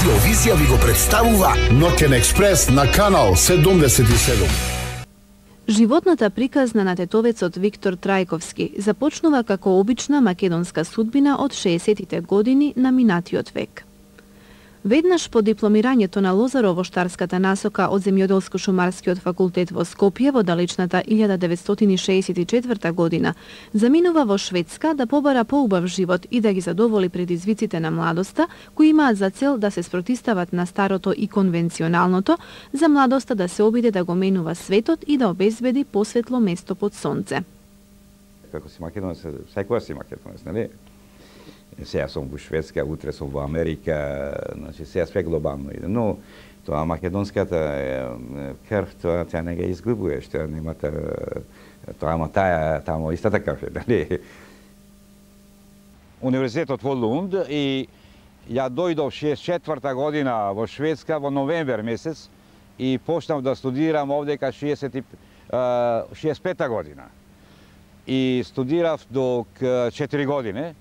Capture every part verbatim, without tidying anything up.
Радиовизија ви го представува Ноќен експрес на канал седумдесет и седум. Животната приказна на тетовецот Виктор Трајковски започнува како обична македонска судбина од шеесеттите години на минатиот век. Веднаш по дипломирањето на Лозаро во штарската насока од Земјоделско-шумарскиот факултет во Скопје во далечната илјада деветстотини шеесет и четврта година, заминува во Шведска да побара поубав живот и да ги задоволи предизвиците на младоста, кои имаат за цел да се спротистават на старото и конвенционалното, за младоста да се обиде да го менува светот и да обезбеди посветло место под сонце. Како си македонец, секоја си македонец, нели? Сега сум во Шведска, утре сум во Америка, значи сега све глобално иде. Но тоа македонската крв, тоа тя не ги изгубуваш, тоа нема тоа, ама таа тамо истата крв е, нели? Универзитетот во Лунд и ја дојдов шеесет и четврта година во Шведска во новемвер месец и почнав да студирам овдека шеесет и пета година. И студирав до четири години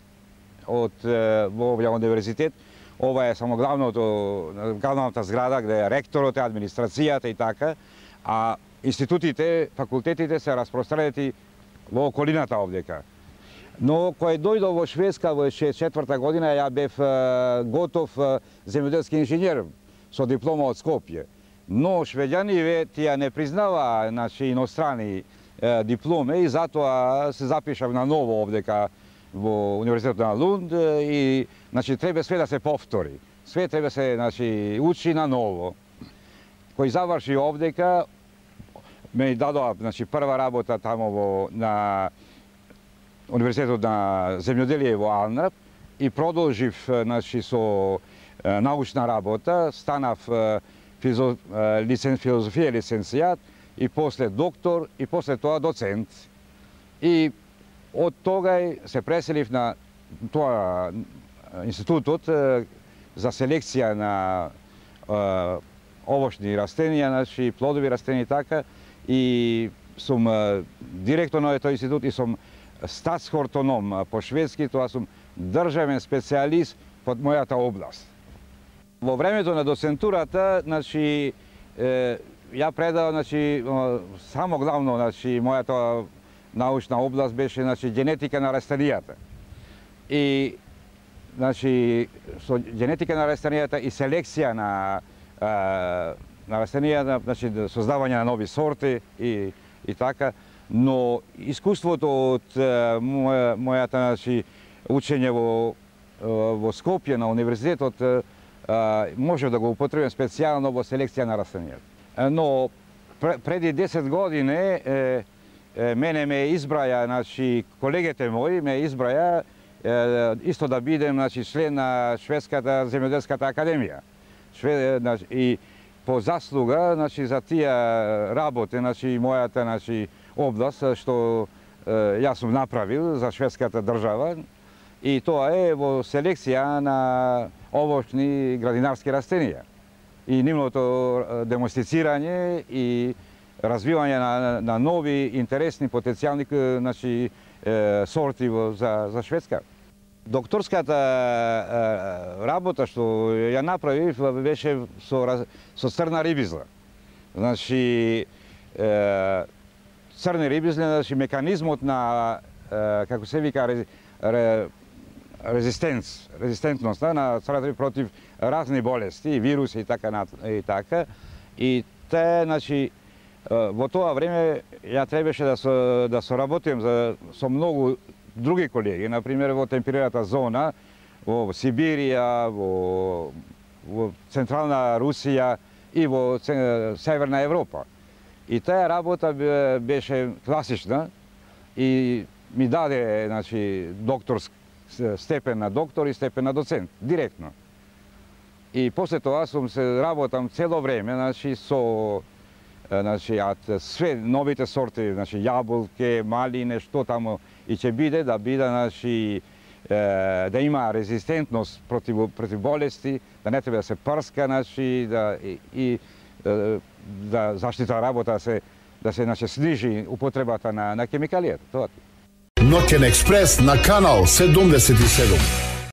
од во овој универзитет. Ова е само главното, главната зграда каде е ректорот, администрацијата и така, а институтите, факултетите се распространети во околината овдека. Но кој дојдов во Шведска во шеесет и четврта година, ја бев готов земјоделски инженер со диплома од Скопје. Но швеѓаниве тие не признава, значи, инострани дипломи и затоа се запишав на ново овдека во Универзитетот на Лунд и значи треба све да се повтори. Све треба се, значи, учи на ново. Кој заврши овдека ме дадоа, значи, прва работа тамо во на Универзитетот на земјоделие во Алнап и продолжив, значи, со научна работа, станав физо, лицен, филозофија лиценцијат и после доктор и после тоа доцент. И од тогај се преселив на тоа институтот за селекција на е, овошни растенија, значи плодови растенија и така, и сум директор на тој институт и сум статсхортоном по шведски, тоа сум државен специјалист под мојата област. Во времето на доцентурата, значи е, ја предавам, значи само главно, значи мојата научна област беше, значи, генетика на растенијата. И, значи, со генетика на растенијата и селекција на, на растенијата, значи, создавање на нови сорти и, и така, но искуството од моја, мојата, значи, учење во, во Скопје на универзитетот може да го употребам специјално во селекција на растенијата. Но преди десет години е, мене ме избраја, значи, колегите мои ме избраја е, исто да бидем, значи, член на Шведската земјоделската академија. Швед, значи, и по заслуга, значи, за тие работи, значи, мојата, значи, област што е, јас сум направил за шведската држава, и тоа е во селекција на овошни градинарски растенија и нивното демонстрицирање и развивање на, на нови, интересни, потенцијални, значи, е, сорти во, за, за Шведска. Докторската е, работа што ја направив беше со, со црна рибизла. Значи, е, црни рибизли, значи, меканизмот на, е, како се вика, ре, ре, резистенц, резистентност на црната риба против разни болести, вируси и така, и така. И те, значи, во тоа време ја требаше да со, да соработим за, со многу други колеги, например во темперираната зона, во Сибирија, во, во Централна Русија и во Северна Европа. И таа работа беше класична и ми даде, значи, докторски степен на доктор и степен на доцент, директно. И после тоа сум се работам цело време, значи, со, значи, све новите сорти, значи, јаболки, малине, што тамо и ќе биде, да биде, значи, да има резистентност против, против болести, да не треба да се прска, значи, да, и, и да заштита работа се, да се, значи, снижи употребата на, на хемикалијата. Тоа. Ноќен експрес на канал седумдесет и седум.